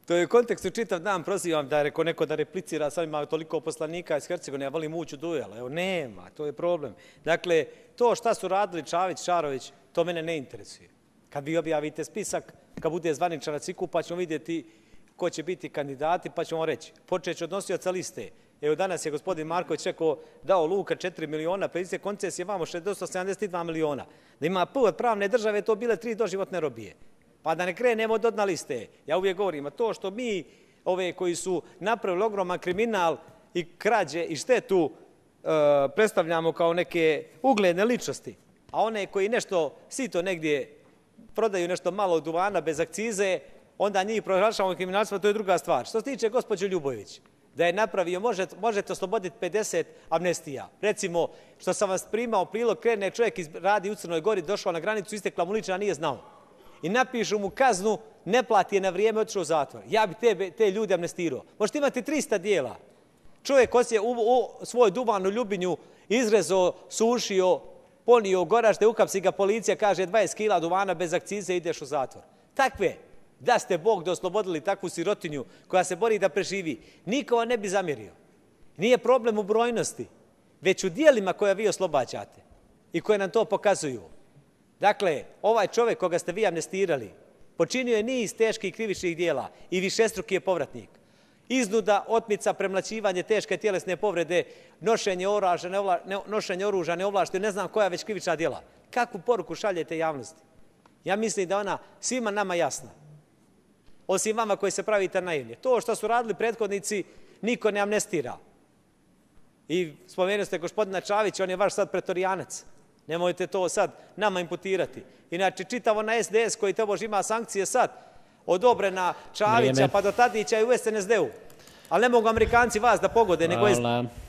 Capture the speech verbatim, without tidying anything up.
To je u kontekstu čitav dan, prozivam da je reko neko da replicira, sad ima toliko poslanika iz Hercegovine, ja volim ući u duel. Evo, nema, to je problem. Dakle, to šta su radili Čavić, Šarović, to mene ne interesuje. Kad vi objavite spisak, kad bude zvaničan na ciku, pa ćemo vidjeti ko će biti kandidati, pa ćemo reći. Počet će od nosioca liste. Evo, danas je gospodin Marković rekao, dao Luka četiri miliona, predstavite koncesije, vamo šezdeset sedamdeset dva miliona. Da ima P od pravne države, to bile tri doživotne robije. Pa da ne krenemo od dna liste. Ja uvijek govorim, a to što mi, ove koji su napravili ogroman kriminal i krađe i štetu, e, predstavljamo kao neke ugledne ličnosti, a one koji nešto sito negdje prodaju nešto malo duvana bez akcize, onda njih proglašavamo kriminalstva, to je druga stvar. Što se tiče gospođe Ljubojević, da je napravio, možete, možete osloboditi pedeset amnestija. Recimo, što sam vas primao prilog, krene čovjek iz, radi u Crnoj Gori, došao na granicu, istekla mu lična, nije znao. I napišu mu kaznu, ne plati je na vrijeme, otišao u zatvor. Ja bi te, te ljude amnestirao. Možete imati trista dijela. Čovjek osje u, u svoj duvan u Ljubinju izrezao, sušio, ponio u Goražde, ukapsi ga policija, kaže dvadeset kila duvana bez akcize, ideš u zatvor. Takve, da ste Bog da oslobodili takvu sirotinju koja se bori da preživi, niko ne bi zamjerio. Nije problem u brojnosti, već u dijelima koje vi oslobađate i koje nam to pokazuju. Dakle, ovaj čovjek koga ste vi amnestirali, počinio je niz teških krivičnih dijela i višestruki je povratnik. Iznuda, otmica, premlaćivanje, teške tjelesne povrede, nošenje oružja, neovla, ne, nošenje oružja, neovlašteno, ne znam koja već krivična djela. Kakvu poruku šaljete javnosti? Ja mislim da ona svima nama jasna. Osim vama koji se pravite naivni. To što su radili prethodnici, niko ne amnestira. I spomenuli ste gospodina Čavića, on je vaš sad pretorijanac. Nemojte to sad nama imputirati. Inače, čitavo na S D S koji tobož ima sankcije sad, odobrena Čavića, Vrijeme. Pa do Tadića i u S N S D-u. Ali ne mogu Amerikanci vas da pogode, nego S D S.